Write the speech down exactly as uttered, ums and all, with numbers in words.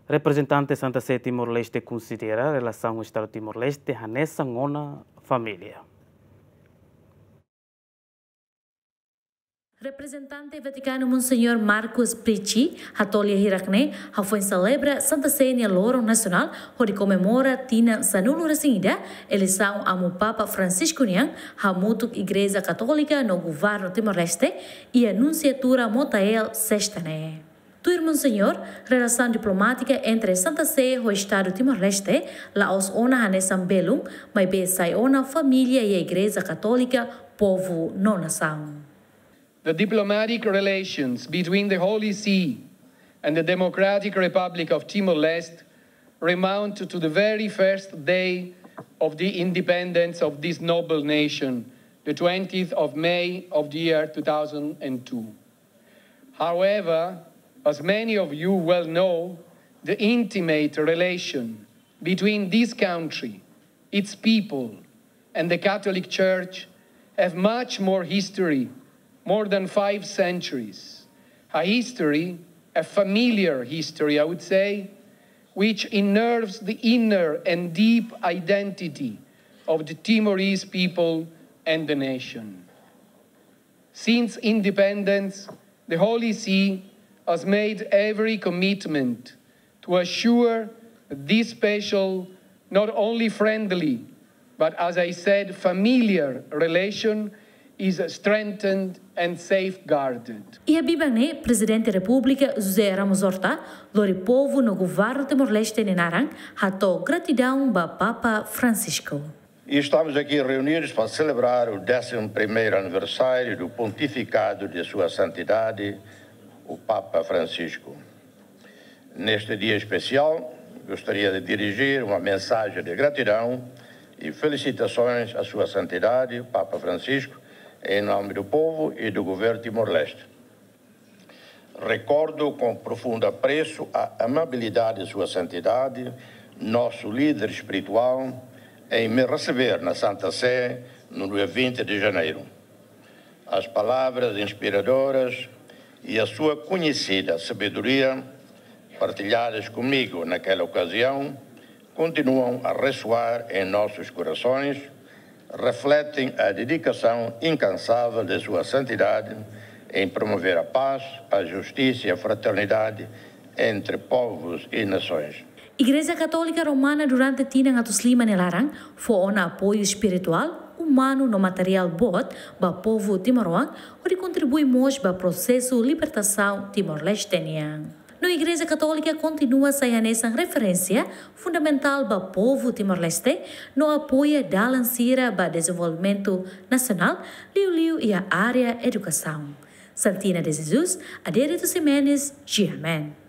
Reprezentante Santa Sé Timor-Leste konsidera relasaun ho Estadu Timor-Leste hanesan ona família. Reprezentante Vatikanu Monseñór Marcus Prici hato'o lia hirak-ne'e hafoin selebra Santa Sé nia loron nasionál hodi komemora tinan sanulu-resin-ida eleisaun Amu Papa Francisco nian hamutuk Igreja Katólika no Governu Timor-Leste iha Nunsiatura Motael, sesta ne'e. Tuir Monseñór, relasaun diplomátika entre Santa Sé ho Estadu Timor-Leste la'ós ona hanesan belun, maibé sai ona família iha Igreja Katólika, povu no nasaun. The diplomatic relations between the Holy See and the Democratic Republic of Timor-Leste remount to the very first day of the independence of this noble nation, the twentieth of May of the year two thousand and two. However, as many of you well know, the intimate relation between this country, its people, and the Catholic Church have much more history, more than five centuries. A history, a familiar history, I would say, which innerves the inner and deep identity of the Timorese people and the nation. Since independence, the Holy See has made every commitment to assure this special, not only friendly, but, as I said, familiar relation is strengthened and safeguarded. Iha biban ne'e, Prezidente Repúblika José Ramos Horta lori povu no governu Timor-Leste nia naran hato'o gratidaun ba Papa Francisco. E estamos aqui reunidos para celebrar o décimo primeiro aniversário do pontificado de Sua Santidade, o Papa Francisco. Neste dia especial, gostaria de dirigir uma mensagem de gratidão e felicitações a Sua Santidade, Papa Francisco, em nome do povo e do governo Timor-Leste. Recordo com profundo apreço a amabilidade de Sua Santidade, nosso líder espiritual, em me receber na Santa Sé no dia vinte de janeiro. As palavras inspiradoras e a sua conhecida sabedoria, partilhadas comigo naquela ocasião, continuam a ressoar em nossos corações, refletem a dedicação incansável de Sua Santidade em promover a paz, a justiça e a fraternidade entre povos e nações. Igreja Katólika Romana durante tinan atus lima nia laran fó ona apoiu espirituál, umanu no materiál boot ba povu timoroan, hodi kontribui mós ba prosesu libertasaun Timor-Leste nian. No Igreja Katólika kontinua sai hanesan referénsia fundamentál ba povu Timor-Leste no apoia dalan sira ba dezenvolvimentu nasionál, liuliu iha área edukasaun. Santina de Jesus, Adérito Ximenes, G M N.